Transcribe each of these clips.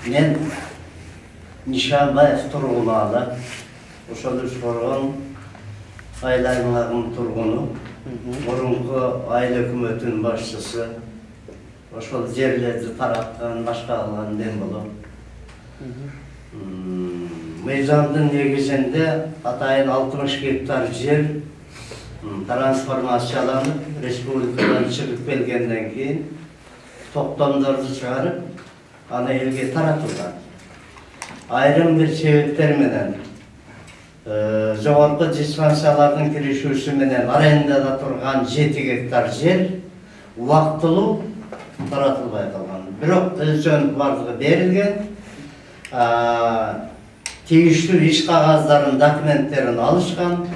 Men Nişanbayev turgunu ошол Ушкоргон айыл аймагынын тургуну, мурунку айыл өкмөтүнүн башчысы, ошол жерлерди тараткан, башка кылган мен болом. Мыйзамдын негизинде атайын 60 гектар жер трансформацияланып, республикадан чыгып келгенден кийин токтомдорду чыгарып, аны элге таратылган. Айрым бир себептер менен жогорку диспансиялардын киришүүсү менен арендада турган 7 гектар жер убактылуу таратылбай калган. Бирок өлчөнүп бардыгы берилген, тийиштүү иш кагаздарын, документтерин алышкан.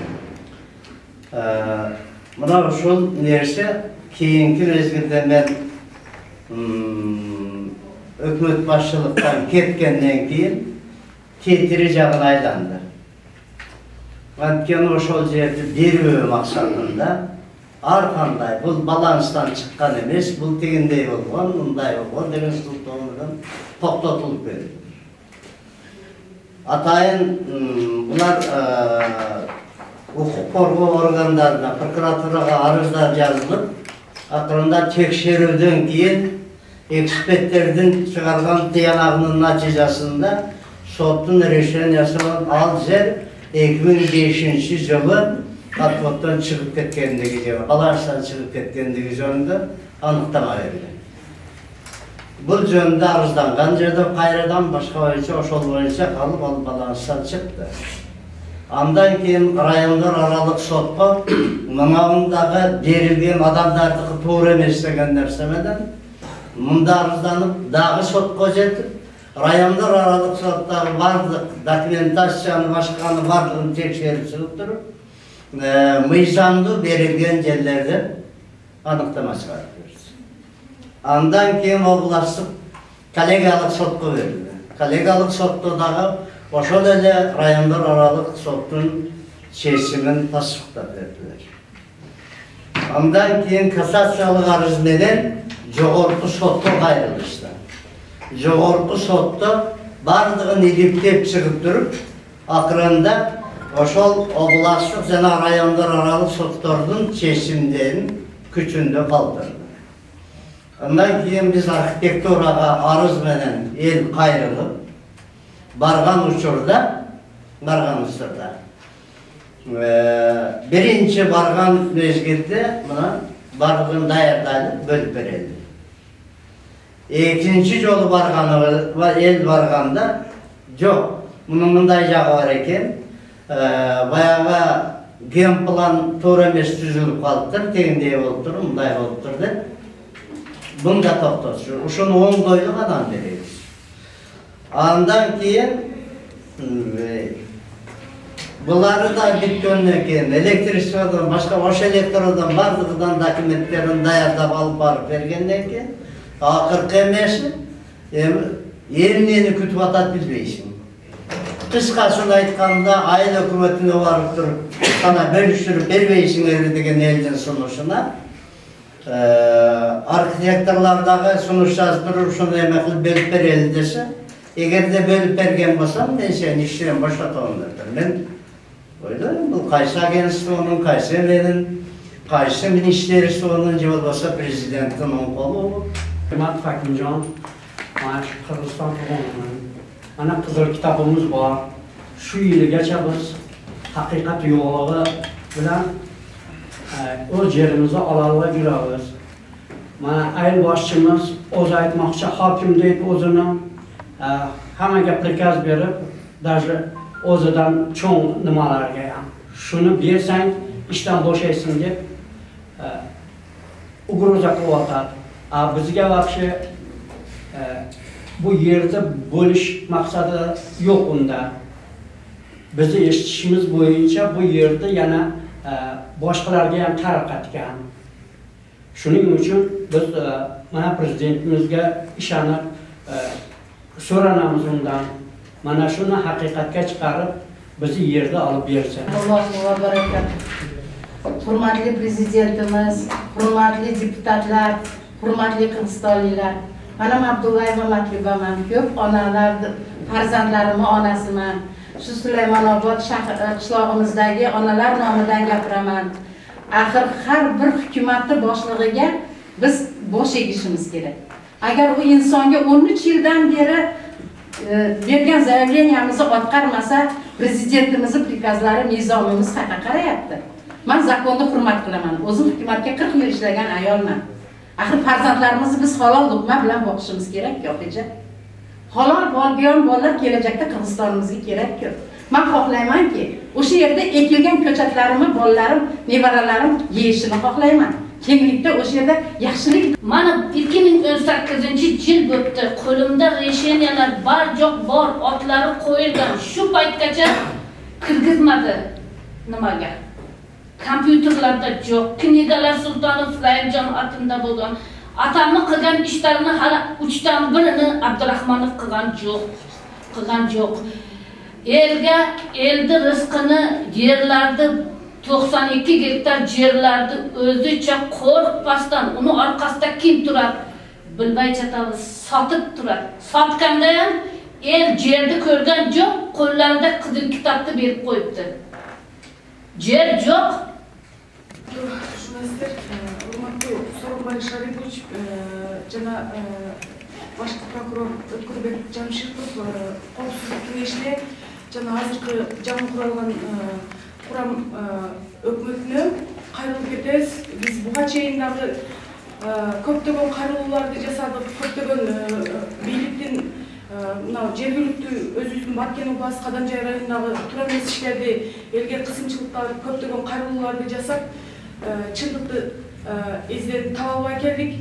Мына ушул нерсе кийинки мезгилде мен өкмөт башчылыктан кеткенден кийин тетири жагын айланды. Анткени ошол жерди берүү максатында ар кандай бул баланстан чыккан эмес, бул тигиндей болгон, мындай болгон деген сылтоондан токтотулуп келди. Атайын булар укук коргоо органдарына, прокуратурага арыздар жазылып, акырында текшерүүдөн кийин эксперттердин чыгарган тыянагынын натыйжасында соттун решениясы менен ал жер 2005-жылы отводдон чыгып кеткендиги же баланстан чыгып кеткендиги жөнүндө аныктама берилген. Бул жөнүндө арызданган жерде кайрадан башка боюнча ошол боюнча калып ал баланстан чыкты. Андан кийин райондор аралык сотко мынаундагы берилген адамдардыкы туура эмес деген нерсе менен мында арызданып дагы сотко жетип, райондор аралык соттагы бардык документацияны башканы бардыгын текшерип чыгып туруп, мыйзамдуу берилген жерлерден аныктама чыгарып берди. Андан кийин областтык коллегиялык сотко берилди. Коллегиялык сотто дагы ошол эле райондор аралык соттун чечимин тасдыктап бердилер. Андан кийин кассациялык арыз менен жогорку сотко кайрылышты. Жогорку сотто бардыгын иликтеп чыгып туруп, акырында ошол областтык жана райондор аралык соттордун чечимдерин күчүндө калтырды. Андан кийин биз архитектурага арыз менен эл кайрылып, барган учурда биринчи барган мезгилде мына бардыгын даярдалып бөлүп берилди. Экинчи жолу эл барганда жок, мунун мындай жагы бар экен. Баягы генплан туура эмес түзүлүп калыптыр, тегиндей болуптур, мындай болуптур деп. Мында токтотчу, ушуну оңдойлук анан беребиз. Андан кийин булары да бүткөндөн кийин электричестводон башка ош электродан бардыгынан документтерин даярдап алып барып бергенден кийин акыркы эмеси эмнени күтүп атат билбейсиң. Кыскасын айтканда айыл өкмөтүнө барып туруп, кана бөлүштүрүп бербейсиңер деген элдин сунушуна архитекторлор дагы сунуш жазып туруп ушуну эме кылып бөлүп берели десе, эгерде бөлүп берген болсом, мен сени иштен бошотом деп. Мен ойлойм, бул кайсы агентствонун, кайсы эменин, кайсы министерствонун же болбосо президенттин оң колу. Hikmet Fakimcan, Kırgızistan toplumунун. Ana kızıl kitabımız var. Şu yılı geçeriz, hakikat yolu bilen o yerimizi alarla gireriz. Ayıl başçımız oz aytmakçı hakim deyip ozunu hemen geplikaz verip, даже ozadan çoğun numalar gelen. Şunu bilsen işten boşaysın deyip uğruza kıvatar. Bizge вообще bu yerde bölüş maksadı yok onda. Bizi eşitişimiz boyunca bu yerde yana başkalarga ham taraqqat etgan. Shuning uchun biz mana prezidentimizga ishonib so'ranamiz undan. Mana shuni haqiqatga chiqarib bizni yerda olib bersin. Allohu va barakat. Hurmatli prezidentimiz, hurmatli deputatlar, hurmatli qirg'izistonliklar, Anam Abdullaeva Matlubaman, ko'p onalar farzandlarimni onasiman. Shu Sulaymon-Obod qishlog'imizdagi onalar nomidan gapiraman. Axir har bir hukumatni boshlig'iga biz bosh egishimiz kerak. Agar u insonga 13 yildan beri bergan zaявleniyamizni o'tqarmasa, prezidentimizni prikazlari, nizomimiz qayerga qarayapti? Men zakonni hurmat qilaman. O'zim hukumatga 40 yil ishlagan ayolman. Axir farzandlarimizni biz halol luqma bilan boqishimiz kerak-ku, opajon. Halol bo'lgan bolalar kelajakda Qirg'izistonimizga kerak-ku. Men xohlaymanki, o'sha yerda ekilgan ko'chatlarimni bolalarim, nevaralarim yeyishini xohlayman. Kenglikda o'sha yerda yaxshilik. Mana 2018-yil bo'pti. Qo'limda resheniyalar bor bor, otlari qo'yilgan. Shu paytgacha kirgizmadi. Nimaga? Kompyuterlarda yo'q. Knigalar Sultonov Rahimjon atimda bo'lgan. Atamni qilgan ishlarini hali 3 dan birini Abdurahmonov qilgan yo'q. Eldi rizqini yerlarni 92 gektar yerlarni o'zicha qo'rqmasdan uni orqasida kim turadi? Bilmay chatamiz, sotib turadi. Sotganda ham el yerni ko'rgan yo'q, qo'llarida qizil kitobni berib qo'yibdi. Yer yo'q. Шунастер, урматтуу Сооронбай Шарипович жана башкы прокурор Өткүрбек Жамшитов коопсуздук кеңешине жана азыркы жаңы куралган курам өкмөтүнө кайрылып кетебиз. Биз буга чейин дагы көптөгөн кайрылууларды жасадык, көптөгөн бийликтин мына жергиликтүү өзүбүздүн Баткен областы Каданжай районундагы туура эмес иштерди элге кысымчылыктар, көптөгөн кайрылууларды жасап, чындыкты изденип таба албай келдик.